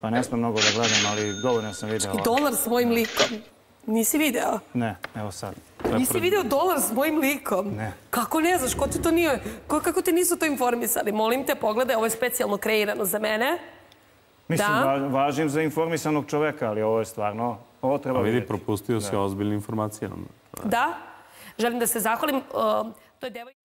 Pa ne smem mnogo da gledam, ali dovoljno sam video. I dolar s mojim likom. Nisi video? Ne, evo sad. Nisi video dolar s mojim likom? Ne. Kako ne znaš? Ko ti to nije? Kako te nisu to informisali? Molim te, pogledaj, ovo je specijalno kreirano za mene. Mislim, važim za informisanog čoveka, ali ovo je stvarno... Ovo treba vidjeti. Vidi, propustio si ozbiljne informacije. Da. Želim da se zahvalim. To je devojka...